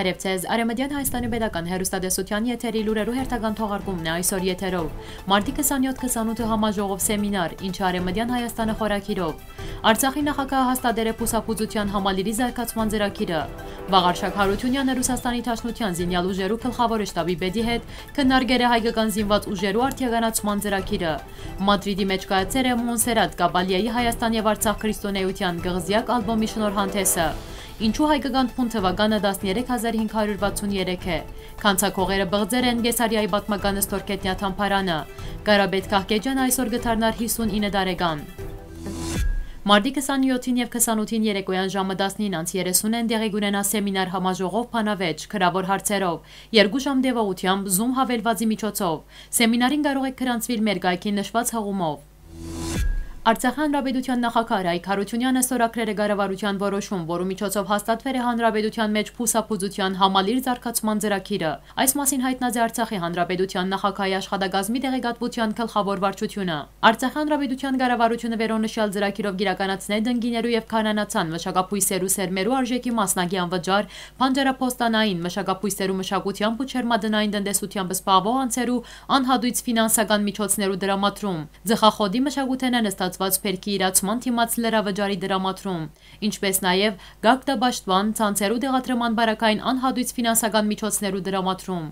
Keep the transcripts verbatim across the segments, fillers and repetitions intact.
Բարեւ ձեզ, Արեւմտեան Հայաստանի Պետական Հեռուստատեսութեան եթերի լուրերու հերթական թողարկումն է այսօր եթերով։ Մարտի քսանյոթ քսանութը համաժողով սեմինար, ինչը Արեւմտեան Հայաստանը խորագիրով։ Արցախի նախագահը հաստատեր է բուսաբուծութեան համալիրի զարգացման ծրագիրը։ Վաղարշակ Յարութիւնեանը Ռուսաստանի Դաշնութեան զինեալ ուժերու գլխաւոր շտաբի պետի հետ քննարկեր է հայկական զինուած ուժերու արդիականացման ծրագիրը։ Մադրիդի մէջ կայացեր է Մոնսերատ Կաբալիայի Հայաստան եւ Արցախ քրիստոնէութեան կղզեակ ալբոմի շնորհանդեսը։ Ինչու հայկական բուն թուականը տասներեք հազար հինգ հարիւր վաթսուն երեք է։ Գանձակողերը բղձեր են Կեսարիայի պատմական Ստորգետնյա թամբարանը։ Կարապետ Կահկեջյանը այսօր կը դառնար հիսուն ինը տարեկան։ Մարտի քսանյոթին եւ քսանութին երեկոյան ժամը տասնինը անց երեսունին տեղի կունենայ սեմինար համաժողով բանավեճ, գրաւոր հարցերով, երկու ժամ տեւողութեամբ Zoom հավելուածի միջոցով։ Սեմինարին կարող է գրանցուիլ մեր կայքին նշուած հղումով։ Արցախի Հանրապետութեան նախագահ Արայք Յարութիւնեանը ստորագրեր է կառավարութեան որոշում, որու միջոցով հաստատուեր է հանրապետութեան մէջ բուսաբուծութեան համալիր զարգացման ծրագիրը։ Այս մասին յայտնած է Արցախի Հանրապետութեան նախագահի աշխատակազմի տեղեկատվութեան գլխաւոր վարչութիւնը։ Արցախի Հանրապետութեան կառավարութիւնը վերոնշեալ ծրագիրով կիրականացնէ տնկիներու եւ քարհանացան մշակաբոյսերու սերմերու արժէքի մասնակի անվճար, բանջարաբոստանային մշակաբոյսերու մշակութեամբ ու ջերմատնային տնտեսութեամբ զբաղուող անձերու անհատոյց ֆինանսական միջոցներու տրամադրում, ծխախոտի մշակութենէն ստացուած բերքի իրացման դիմաց լրավճարի տրամադրում, ինչպէս նաեւ գագտապաշտպան ցանցերու տեղադրման պարագային անհատոյց ֆինանսական միջոցներու տրամադրում։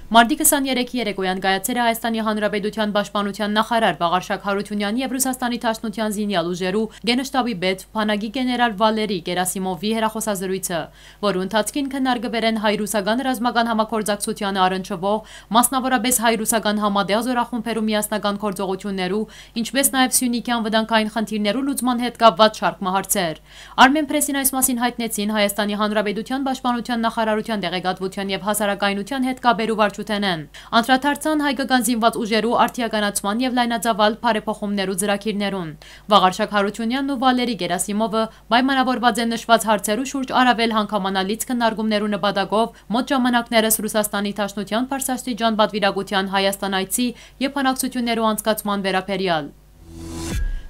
Մարտի քսաներեքի երեկոյան կայացեր է Հայաստանի Հանրապետութեան պաշտպանութեան նախարար Վաղարշակ Յարութիւնեան եւ Ռուսաստանի Դաշնութեան զինեալ ուժերու գենշտաբի պետ բանակի գեներալ Վալերի Կերասիմովի հեռախօսազրոյցը, որու ընթացքին քննարկուեր են հայ-ռուսական ռազմական համագործակցութեանը առնչուող, մասնաւորապէս հայ-ռուսական համատեղ զօրախումբերու միասնական գործողութիւններու, ինչպէս նաեւ Սիւնիքեան վտանգային խնդիրներու լուծման հետ կապուած շարք մը հարցեր։ Արմէնփրեսին այս մասին յայտնեցին Հայաստանի Հանրապետութեան պաշտպանութեան նախարարութեան տեղեկատվութեան եւ հասարակայնութեան հետ կապերու վարչութենէն։ Անդրադարձան հայկական զինուած ուժերու արդիականացման եւ լայնածաւալ բարեփոխումներու ծրագիրներուն։ Վաղարշակ Յարութիւնեանն ու Վալերի Կերասիմովը պայմանաւորուած են նշուած հարցերու շուրջ առաւել հանգամանալից քննարկումներու նպատակով մօտ ժամանակներս Ռուսաստանի Դաշնութեան բարձրաստիճան պատուիրակութեան Հայաստան այցի եւ բանակցութիւններու անցկացման վերաբերեալ։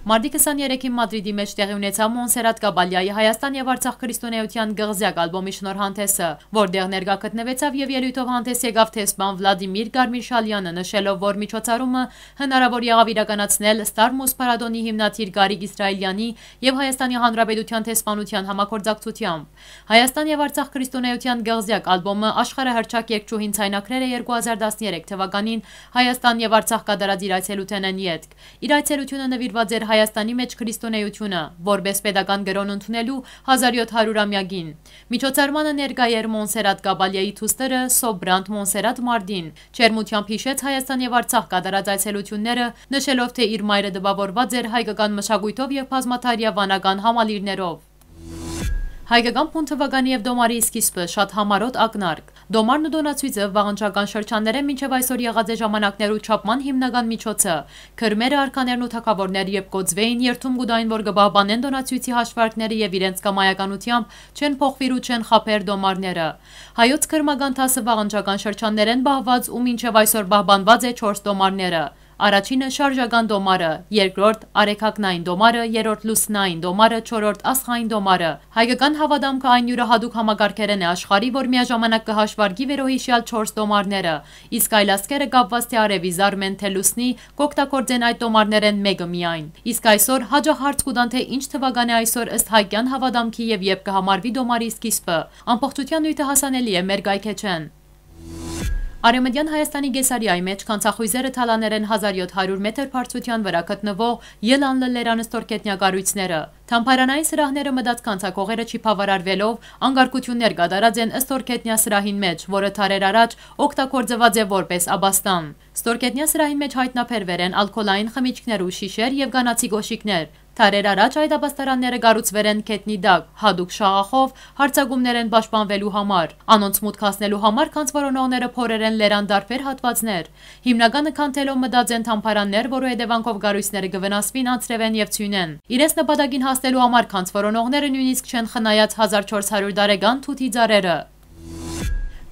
Մարտի քսաներեքին Մադրիդի մէջ տեղի ունեցաւ Մոնսերատ Կաբալիայի Հայաստան եւ Արցախ քրիստոնէութեան կղզեակ ալբոմի շնորհանդեսը, որտեղ ներկայ գտնուեցաւ եւ ելոյթով հանդես եկաւ դեսպան Վլադիմիր Կարմիրշալյանը, նշելով, որ միջոցառումը հնարաւոր եղաւ իրականացնել Star Muse փառատոնի հիմնադիր Գարիկ Իսրայելյանի եւ Հայաստանի Հանրապետութեան դեսպանութեան համագործակցութեամբ։ Հայաստան եւ Արցախ քրիստոնէութեան կղզեակ ալբոմը աշխարհահռչակ երգչուհին ձայնագրեր է երկու հազար տասներեք թվականին Հայաստան եւ Արցախ կատարած իր այցելութենէն ետք։ Իր այցելութիւնը նուիրուած էր Հայաստանի մէջ քրիստոնէութիւնը որպէս պետական կրօն ընդունելու հազար յոթ հարիւր ամեակին։ Միջոցառմանը ներկայ էր Մոնսերատ Կաբալիայի դուստրը, Սոբրանդ Մոնսերատ Մարտին։ Ջերմութեամբ յիշեց Հայաստան եւ Արցախ կատարած այցելութիւնները, նշելով, թէ իր մայրը տպաւորուած էր հայկական մշակոյթով եւ բազմադարեայ վանական համալիրներով։ Հայկական բուն թուականի եւ տոմարի սկիզբը շատ համառոտ ակնարկ։ Տոմարն ու տոնացոյցը վաղնջական շրջաններէն մինչեւ այսօր եղած է ժամանակներու չափման հիմնական միջոցը։ Քրմերը, արքաներն ու թագաւորները երբ կոծուէին, երդում կու տային, որ կը պահպանեն տոնացոյցի հաշվարկները եւ իրենց կամայականութեամբ չեն փոխուիր ու չեն խաբեր տոմարները։ Հայոց քրմական դասը վաղնջական շրջաններէն պահուած ու մինչեւ այսօր պահպանուած է չորս տոմարները։ Առաջինը՝ շարժական տոմարը, երկրորդ՝ արեգակնային տոմարը, երրորդ՝ լուսնային տոմարը, չորրորդ՝ աստղային տոմարը։ Հայկական հաւատամքը այն իւրը յատուկ համակարգերէն է աշխարհի, որ միաժամանակ կը հաշվարկի վերոյիշեալ չորս տոմարները, իսկ այլ ազգերը կապուած թէ արեւի, զարմեն թէ լուսնի, կօգտագործեն այդ տոմարներէն մէկը միայն։ Իսկ այսօր յաճախ հարց կու տան, թէ ինչ թուական է այսօր ըստ հայկեան հաւատամքի եւ երբ կը համարուի տոմարի սկիզբը։ Ամբողջութեան նիւթը հասանելի է մեր կայքէջէն։ Արեւմտեան Հայաստանի Կեսարիայի մէջ գանձախոյզերը թալաներ են հազար յոթ հարիւր մետր բարձրութեան վրայ գտնուող Ելանլը լերան ստորգետնյա կառոյցները։ Թամբարանային սրահները մտած գանձակողերը չի բաւարարուելով, անկարգութիւններ կատարած են ստորգետնյա սրահին մէջ, որը դարեր առաջ օգտագործուած է որպէս աբաստան։ Ստորգետնյա սրահին մէջ յայտնաբերուեր են ալկոհոլային խմիչքներու շիշեր եւ կանացի կոշիկներ։ Դարեր առաջ այդ աբաստարանները կառուցուեր են գետնի տակ, յատուկ շաղախով, հարձակումներէն պաշտպանուելու համար։ Անոնց մուտք հասնելու համար գանձ որոնողները փորեր են լերան տարբեր հատուածներ։ Հիմնականը քանդելով մտած են թամբարաններ, որու հետեւանքով կառոյցները կը վնասուին անձրեւէն եւ ձիւնէն։ Իրենց նպատակին հասնելու համար գանձ որոնողները նոյնիսկ չեն խնայած հազար չորս հարիւր տարեկան թութի ծառերը։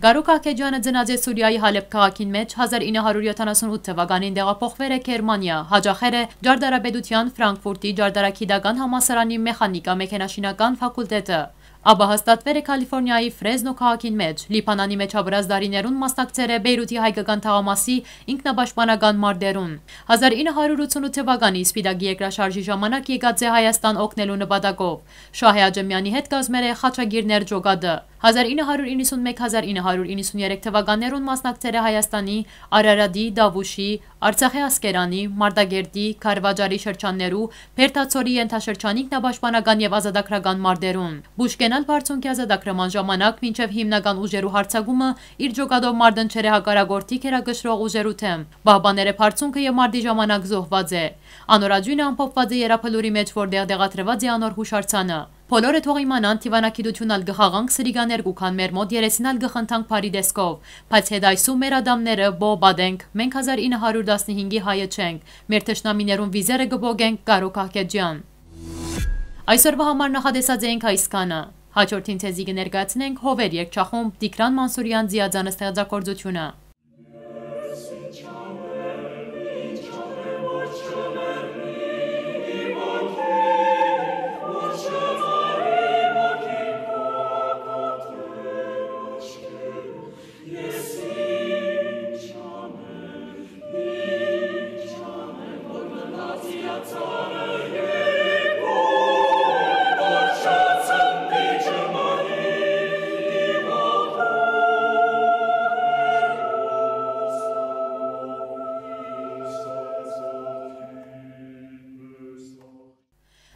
Գարու Կահքեջյանը ծնած է Սուրիայի Հալեբ քաղաքին մէջ հազար ինը հարիւր յոթանասուն ութ թվականին տեղափոխուեր է Գերմանիա, յաճախեր է Ճարտարապետութեան Ֆրանկֆուրտի ճարտարագիտական համալսարանի մեխանիկա-մեքենաշինական ֆակուլտետը։ Ապա հաստատուեր է Քալիֆորնիայի Ֆրեզնո քաղաքին մէջ, Լիբանանի մէջ ապրած տարիներուն մասնակցեր է Բեյրութի հայկական թաղամասի ինքնապաշտպանական մարտերուն։ Հազար ինը հարյուր ութսունութ թվականի Սպիտակի երկրաշարժի ժամանակ եկած է Հայաստան օգնելու նպատակով։ Շահէ Աճեմեանի հետ կազմեր է Խաչագիրներ ջոկատը։ Հազար ինը հարյուր իննսունմեկ, հազար ինը հարյուր իննսուներեք թվականներուն մասնակցեր է Հայաստանի Արարատի, Դավուշի, Արցախի Ասկերանի, Մարտակերտի, Քարվաճարի շրջաններու, Բերդացորի ենթաշրջանի ինքնապաշտպանական եւ ազատագրական մարտերուն։ Պուշկեն ալ բարձունքի ազատագրման ժամանակ մինչեւ հիմնական ուժերու յարձակումը իր ջոկատով մարտընչեր է հակառակորդի գերակշռող ուժերու դէմ։ Պահպաներ է բարձունքը եւ մարտի ժամանակ զոհուած է։ Անոր աճույնը ամփոփուած է Եռաբլուրի մէջ, որտեղ տեղադրուած է անոր յուշարձանը։ Բոլորը թող իմանան, դիւանագիտութիւն ալ կը խաղանք, սրիկաներ կու գան մեր մօտ, երեսին ալ կը խնդանք բարի տեսքով, բայց հետ այսու մեր ատամները պոյ պատենք, մենք հազար ինը հարյուր տասնհինգի հայը չենք, մեր թշնամիներուն վիզերը կը պոկենք, Կարո Քահքեջեան։ Այսօրվա համար նախատեսած էինք այսքանը։ Հաջորդին ձեզի կը ներկայացնենք Հովեր երգչախումբ, Տիգրան Մանսուրեան ձիածան ստեղծագործութիւնը։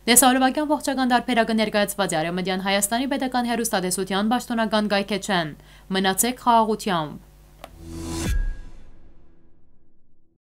Տեսահոլովակեան ողջական տարբերակը ներկայացուած է Արեւմտեան Հայաստանի պետական հեռուստատեսութեան պաշտօնական կայքէջէն։ Մնացեք խաղաղութեամբ։